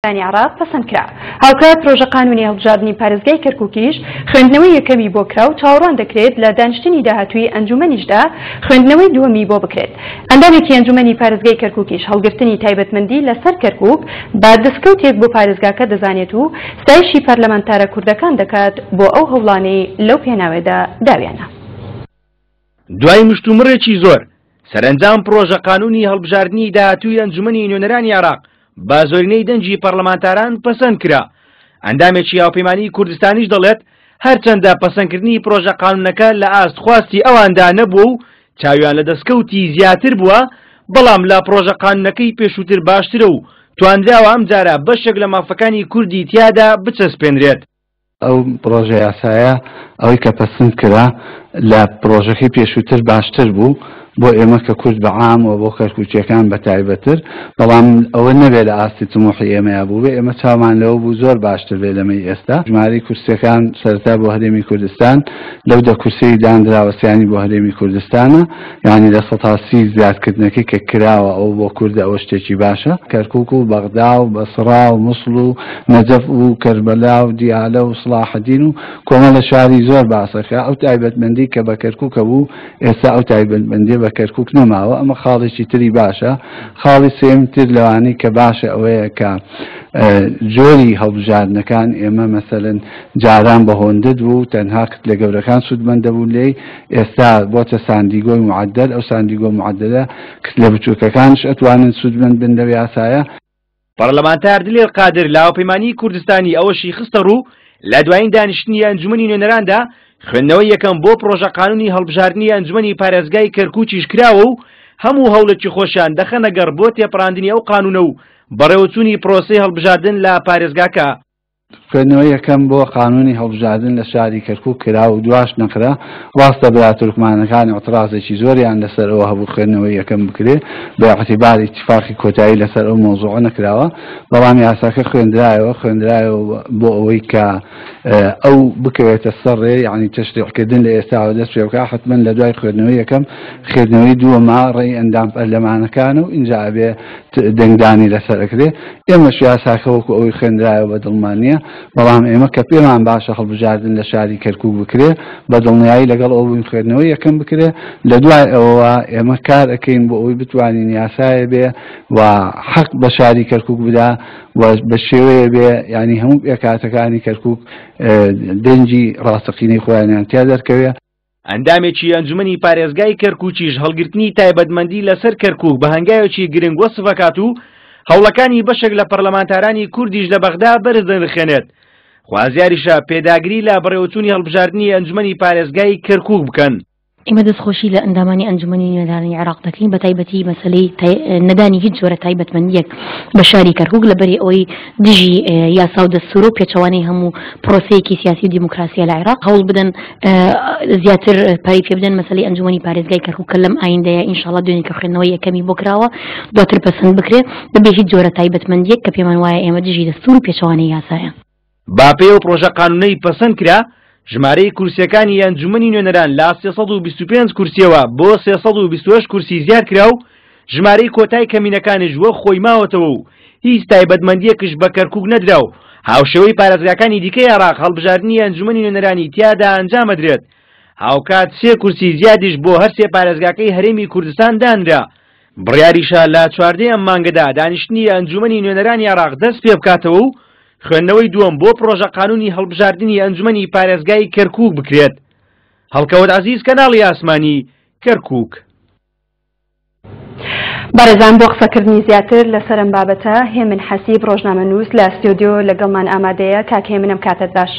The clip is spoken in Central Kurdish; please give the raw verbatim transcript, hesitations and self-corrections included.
عێراق پەسەند کرا. هاوکات پرۆژە قانونی هەڵبژاردنی پارێزگای کەرکووکیش خوێندنەوەی یەکەمی بۆ کرا و چاوەڕوان دەکرێت لە دانیشتنی داهاتووی ئەنجومەنیشدا خوێندنەوەی دووەمی بۆ بکرێت. ئەندامێکی ئەنجومەنی پارێزگای کەرکووکیش هەڵگرتنی تایبەتمەندی لەسەر کەرکووک بە دەستکەوتێک بۆ پارێزگاکە دەزانێت و ستایشی پەرلەمانتارە کوردەکان دەکات بۆ ئەو هەوڵانەی لەو پێناوێدا داویانە. دوای مشتومڕێکی زۆر سەرەنجام پرۆژە قانونی هەڵبژاردنی داهاتووی ئەنجومەنی نوێنەرانی عێراق بە زۆرینەی دەنگی پەرلەمانتاران پەسەند کرا. ئەندامێکی هاوپەیمانی کوردستانیش دەڵێت هەرچەندە پەسەندکردنی پرۆژە قانونەکە لە ئاست خواستی ئەواندا نەبووە و چاویان لە دەستکەوتی زیاتر بووە، بەڵام لە پرۆژە قانونەکەی پێشووتر باشترە و توانراوە ئەمجارە بەشێک لە مافەکانی کوردی تیادا بچەسپێنرێت. ئەو پرۆژە یاسایە ئەوەی کە پەسەند کرا لە پرۆژەکەی پێشووتر باشتر بوو بۆ ئێمە کە کورد بە عام و بۆ کەرکووکیەکان بە تایبەتر، بەڵام ئەوە نەبێ لە ئاستی تموحی ئێمەیا بوو بێ، ئێمە چاومان لەوە بوو زۆر باشتر بێ لەمەی ئێستا. ژمارەی کورسیەکان سەرەتا بۆ هەرێمی کوردستان لەو دە کورسیەی دانراوە سیانی بۆ هەرێمی کوردستانە، یعنی لە سەدا سی زیادکردنەکەی کە کراوە ئەو بۆ کوردە ئەوە شتێکی باشە. کەرکووک و بەغدا و بەسڕا و موسڵ و نەجەف و کەربەلا و دیالە و سڵاحەدین و کۆمەڵە شاری زۆر باسەکە. ئەو تایبەتمەندی کە بە کەرکووکە بوو ئێستا ئەو تایبەتمەندی بە کەرکووک نەماوە. ئەمە خاڵێکی تری باشە. خاڵی سێم تر لەوانەی کە باشە ئەوەیە کە جۆری هەڵبژاردنەکان ئێمە مەسەلەن جاران بە هۆندت بوو، تەنها لە گەورەکان سوودمەند دەبوون لێی، ئێستا بۆتە ساندیگۆی معدل. ئەو ساندیگۆ معدلە لە بچووکەکانش ئەتوانن سوودمەند بن لەو یاسایە. پەرلەمانتار دلێر قادر لە هاوپەیمانی کوردستانی ئەوەشی خستە ڕوو لە دوایین دانیشتنی ئەنجومەنی نوێنەراندا خوێندنەوەی یەکەم بۆ پرۆژە قانونی هەڵبژاردنی ئەنجومەنی پارێزگای کەرکووکیش کراوە و هەموو هەوڵێکی خۆشیان دەخەنە گەڕ بۆ تێپەڕاندنی ئەو قانونە و بەڕێوەچوونی پرۆسەی هەڵبژاردن لە پارێزگاکە. خوێندنەوەی یەکەم بۆ قانونی هەڵبژاردن لە شاری کەرکووک کرا و دواش نەکرا. ڕاستە برا تورکمانەکان اعترازێکی زۆریان لەسەر ئەوە هەبوو خوێندنەوەی یەکەم بکرێ، بە اعتبار اتفاقی کۆتایی لەسەر ئەو مۆزوعە نەکراوە، بەڵام یاساکە خوێندرایەوە خوێندرایەوە بۆ ئەوەی کە ئەو بکەوێتە سەر ڕێ، یعنی تەشریعکردن لە ئێستاوە دەست پێ بکا. حتمما لە دوای خوێندنەوەی یەکەم خوێندنەوەی دووەما ڕێی ئەندام پەرلەمانەکان و ئینجا ئەبێ دەنگدانی لەسەر ئەکرێ. ئێمەش یاساکە وەکو ئەوەی خوێندرایەوە بە دڵمان نییە، بەڵام ئێمە کە پێمان باشە هەڵبژاردن لە شاری کەرکووک بکرێ بە دڵنیایی لەگەڵ ئەو بووین خوێندنەوەی یەکەم بکرێ. لە دوای ئەوە ئێمە کار ئەکەین بۆ ئەوەی بتوانین یاسایە بێ و حەق بە شاری کەرکووک بدا و بە شێوەیە بێ، یعنی هەموو پێکهاتەکانی کەرکووک دەنگی ڕاستەقینەی خۆیانیان تیا دەرکەوێ. ئەندامێکی ئەنجومەنی پارێزگای کەرکووکیش هەڵگرتنی تایبەتمەندی لەسەر کەرکووک بە هەنگاوێکی گرنگ وەسف ئەکات و هەوڵەکانی بەشێک لە پەرلەمانتارانی کوردیش لە بەغدا بەرز دەنرخێنێت. خوازیاریشە پێداگری لە بەڕێوەچوونی هەڵبژاردنی ئەنجومەنی پارێزگای کەرکووک بکەن. ئێمە دەستخۆشی لە ئەندامانی ئەنجومەنی نوێنەرانی عێراق دەکەین، بە تایبەتی مەسەلەی نەدانی هیچ جۆرە تایبەتمەندیەک بە شاری کەرکووک لەبەری ئەوەی دژی یاسا و دەستور و پێچەوانەی هەموو پرۆسەیەکی سیاسی و دیموکراسیە لە عێراق. هەوڵ بدەن زیاتر پارەی پێ بدەن مەسەلەی ئەنجومەنی پارێزگای کەرکووک کە لەم ئایندەیە ئینشاڵڵا دوێنێ کە خوێندنەوەی یەکەمی بۆ کراوە دواتر پەسەند بکرێ بەبێ هیچ جۆرە تایبەتمەندیەک کە پێمان وایە ئێمە دژی دەستور و پێچەوانەی یاسایە. با پێ و پرۆژە قانونەی پەسەند کرا ژمارەی کورسیەکانی ئەنجومەنی نوێنەران لە سێ سەد و بیست و پێنج کورسیەوە بۆ سێ سەد و بیست و هەشت کورسی زیاد کرا و ژمارەی کۆتای کەمینەکانیش وەک خۆی ماوەتەوە و هیچ تایبەتمەندیەکش بە کەرکووک نەدرا و هاوشێوەی پارێزگاکانی دیکەی عێراق هەڵبژاردنی ئەنجومەنی نوێنەرانی تیادا ئەنجامەدرێت. هاوکات سێ کورسی زیادیش بۆ هەر سێ پارێزگاکەی هەرێمی کوردستان دانرا. بڕیاریشە لە چواردەی ئەم مانگەدا دانیشتنی ئەنجومەنی نوێنەرانی عێراق دەست پێ بکاتەوە و خوێندنەوەی دووەم بۆ پرۆژە قانونی هەڵبژاردنی ئەنجومەنی پارێزگای کەرکووک بکرێت. هەڵکەوت عەزیز، کەناڵی ئاسمانی، کەرکووک. بەڕێزان بۆ قسەکردنی زیاتر لەسەر ئەم بابەتە هێمن حەسیب ڕۆژنامەنووس لە ستۆدیۆ لەگەڵمان ئامادەیە. کاک هێمنم کاتت باش.